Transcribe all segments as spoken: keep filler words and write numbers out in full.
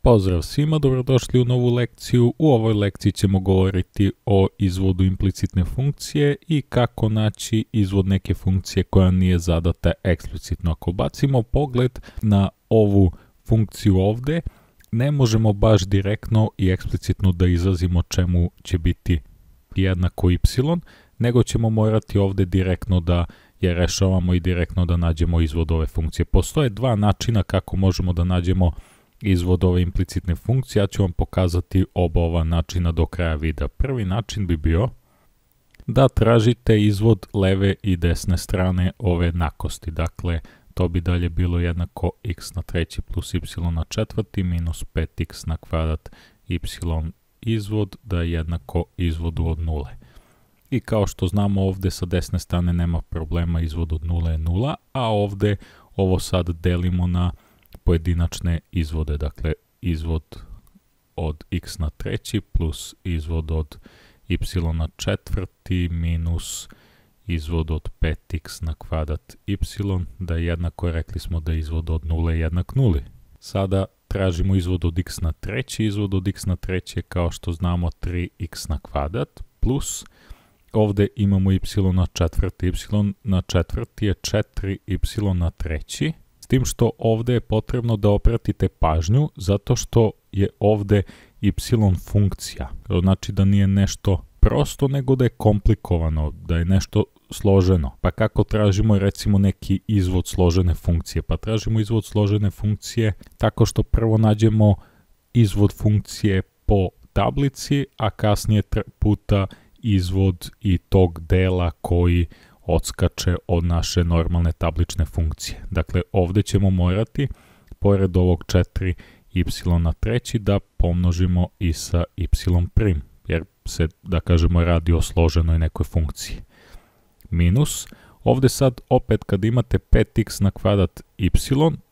Pozdrav svima, dobrodošli u novu lekciju. U ovoj lekciji ćemo govoriti o izvodu implicitne funkcije i kako naći izvod neke funkcije koja nije zadata eksplicitno. Ako bacimo pogled na ovu funkciju ovde, ne možemo baš direktno i eksplicitno da izrazimo čemu će biti jednako y, nego ćemo morati ovde direktno da je rešavamo i direktno da nađemo izvod ove funkcije. Postoje dva načina kako možemo da nađemo izvod ove implicitne funkcije. Ja ću vam pokazati oba ova načina do kraja videa. Prvi način bi bio da tražite izvod leve i desne strane ove jednakosti. Dakle, to bi dalje bilo jednako x na treći plus y na četvrti minus pet x na kvadrat y izvod da je jednako izvodu od nule. I kao što znamo, ovde sa desne strane nema problema, izvod od nule je nula, a ovde ovo sad delimo na pojedinačne izvode, dakle izvod od x na treći plus izvod od y na četvrti minus izvod od pet x na kvadrat y, da je jednako, rekli smo da je izvod od nule jednak nuli. Sada tražimo izvod od x na treći, izvod od x na treći je kao što znamo tri x na kvadrat plus ovde imamo y na četvrti, y na četvrti je četiri y na treći, s tim što ovde je potrebno da opratite pažnju zato što je ovde y funkcija, znači da nije nešto prosto nego da je komplikovano, da je nešto složeno. Pa kako tražimo recimo neki izvod složene funkcije? Pa tražimo izvod složene funkcije tako što prvo nađemo izvod funkcije po tablici, a kasnije puta izvod i tog dela koji odskače od naše normalne tablične funkcije. Dakle, ovde ćemo morati, pored ovog četiri y na treći, da pomnožimo i sa y prim, jer se, da kažemo, radi o složenoj nekoj funkciji. Minus, ovde sad opet kad imate pet x na kvadrat y,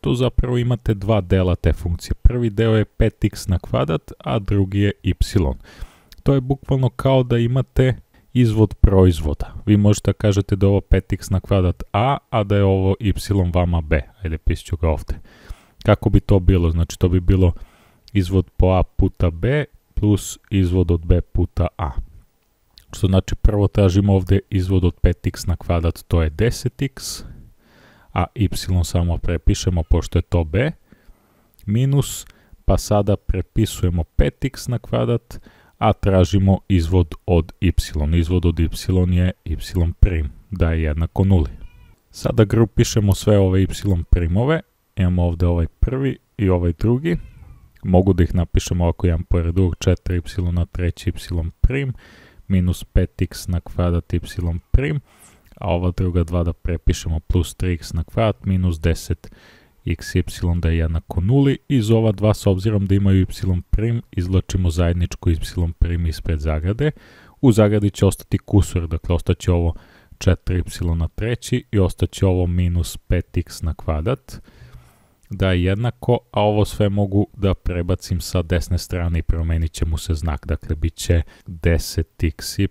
tu zapravo imate dva dela te funkcije. Prvi deo je pet x na kvadrat, a drugi je y. To je bukvalno kao da imate izvod proizvoda. Vi možete da kažete da je ovo pet x na kvadrat a, a da je ovo y vama b. Ajde, pišću ga ovde. Kako bi to bilo? Znači, to bi bilo izvod po a puta b plus izvod od b puta a. Što znači, prvo tražimo ovde izvod od pet x na kvadrat, to je deset x, a y samo prepišemo pošto je to b, minus, pa sada prepisujemo pet x na kvadrat, a tražimo izvod od y. Izvod od y je y prim, da je jednako nuli. Sada grupišemo sve ove y primove, imamo ovde ovaj prvi i ovaj drugi. Mogu da ih napišemo ovako jedan pored drugog, četiri y na treći y prim, minus pet x na kvadrat y prim, a ova druga dva da prepišemo plus tri x na kvadrat minus deset x y da je jednako nuli. Iz ova dva, s obzirom da imaju y prim, izvlačimo zajedničko y prim ispred zagrade. U zagradi će ostati kusur, dakle ostaće ovo četiri y na treći i ostaće ovo minus pet x na kvadrat, da je jednako, a ovo sve mogu da prebacim sa desne strane i promenit će mu se znak, dakle bit će deset x y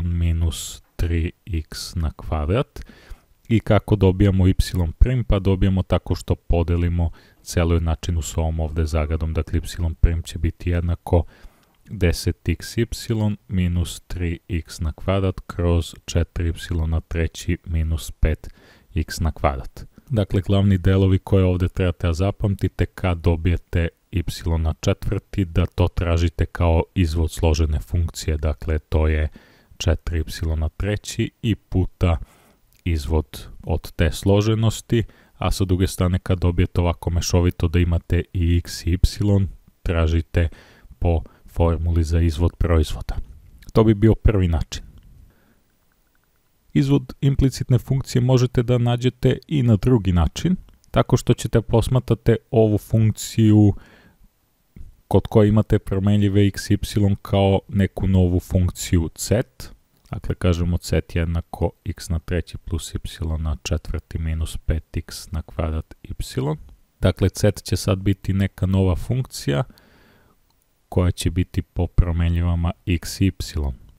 minus tri x na kvadrat. I kako dobijamo y prim? Pa dobijamo tako što podelimo celu jednačinu s ovom ovde zagradom, dakle y prim će biti jednako deset x y minus tri x na kvadrat kroz četiri y na treći minus pet x na kvadrat. Dakle, glavni delovi koje ovde trebate da zapamtite kad dobijete y na četvrti, da to tražite kao izvod složene funkcije, dakle to je četiri y na treći i puta izvod od te složenosti, a sa druge strane kad dobijete ovako mešovito da imate i x i y, tražite po formuli za izvod proizvoda. To bi bio prvi način. Izvod implicitne funkcije možete da nađete i na drugi način, tako što ćete posmatrate ovu funkciju kod koje imate promenljive x i y kao neku novu funkciju z. Dakle, kažemo z jednako x na treći plus y na četvrti minus pet x na kvadrat y. Dakle, z će sad biti neka nova funkcija koja će biti po promenljivama x i y.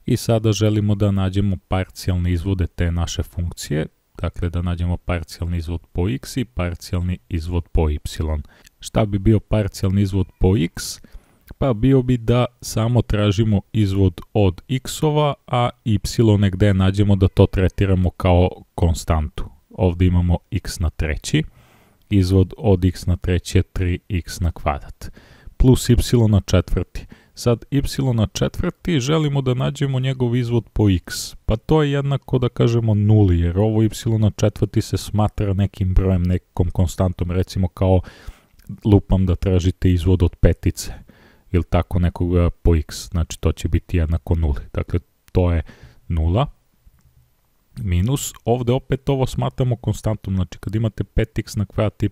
I sada želimo da nađemo parcijalne izvode te naše funkcije, dakle da nađemo parcijalni izvod po x i parcijalni izvod po y. Šta bi bio parcijalni izvod po x? Pa bio bi da samo tražimo izvod od x-ova, a y negde nađemo da to tretiramo kao konstantu. Ovdje imamo x na treći, izvod od x na treći je tri x na kvadrat, plus y na četvrti. Sad y na četvrti želimo da nađemo njegov izvod po x, pa to je jednako da kažemo nuli, jer ovo y na četvrti se smatra nekim brojem, nekom konstantom, recimo kao lupam da tražite izvod od petice, ili tako nekoga po x, znači to će biti jednako nuli, dakle to je nula, minus, ovdje opet ovo smatramo konstantom, znači kad imate pet x na kvadrat y,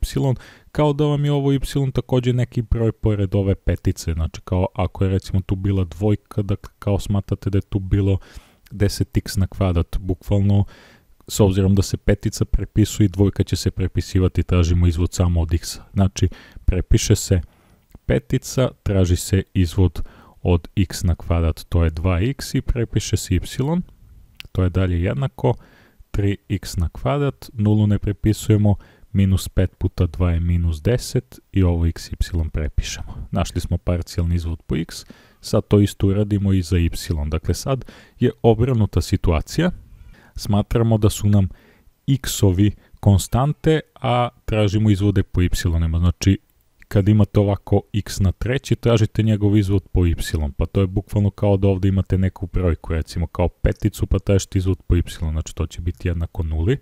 kao da vam je ovo y također neki broj pored ove petice, znači kao ako je recimo tu bila dvojka, dakle kao smatrate da je tu bilo deset x na kvadrat, bukvalno s obzirom da se petica prepisuje i dvojka će se prepisivati, tražimo izvod samo od x, znači prepiše se petica, traži se izvod od x na kvadrat, to je dva x i prepiše se y, to je dalje jednako tri x na kvadrat, nulu ne prepisujemo, minus pet puta dva je minus deset i ovo x, y prepišemo. Našli smo parcijalni izvod po x, sad to isto uradimo i za y. Dakle, sad je obrnuta situacija, smatramo da su nam x-ovi konstante, a tražimo izvode po y-ima, znači kad imate ovako x na treći, tražite njegov izvod po y, pa to je bukvalno kao da ovdje imate neku brojku, recimo kao peticu, pa tražite izvod po y, znači to će biti jednako nuli,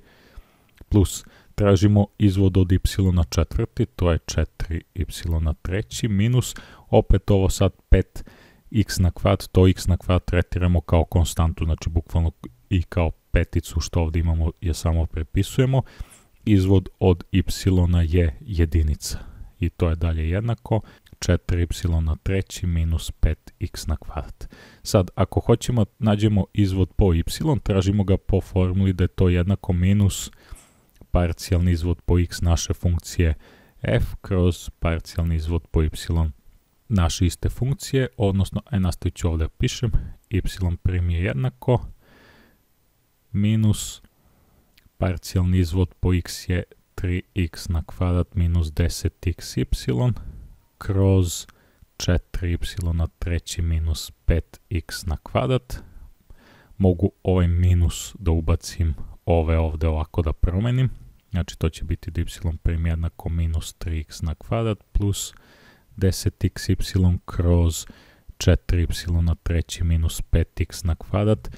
plus tražimo izvod od y na četvrti, to je četiri y na treći, minus, opet ovo sad pet x na kvadrat, to x na kvadrat tretiramo kao konstantu, znači bukvalno i kao peticu što ovdje imamo je samo prepisujemo, izvod od y je jedinica. I to je dalje jednako četiri y na treći minus pet x na kvadrat. Sad, ako hoćemo nađemo izvod po y, tražimo ga po formuli da je to jednako minus parcijalni izvod po x naše funkcije f kroz parcijalni izvod po y naše iste funkcije, odnosno, aj nastavit ću ovdje pišem, y prim je jednako minus parcijalni izvod po x je tri x na kvadrat minus deset x y kroz četiri y na treći minus pet x na kvadrat. Mogu ovaj minus da ubacim ove ovdje ovako da promenim. Znači to će biti da y prim jednako minus tri x na kvadrat plus deset x y kroz četiri y na treći minus pet x na kvadrat.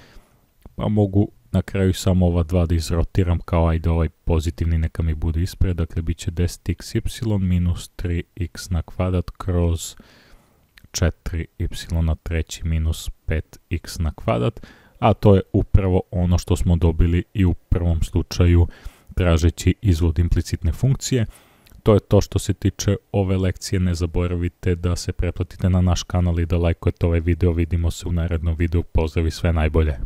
Pa mogu na kraju samo ova dva da izrotiram kao ajde ovaj pozitivni neka mi bude ispred, dakle bit će deset x y minus tri x na kvadrat kroz četiri y na treći minus pet x na kvadrat, a to je upravo ono što smo dobili i u prvom slučaju tražeći izvod implicitne funkcije. To je to što se tiče ove lekcije, ne zaboravite da se pretplatite na naš kanal i da lajkujete ovaj video, vidimo se u narednom videu, pozdrav i sve najbolje.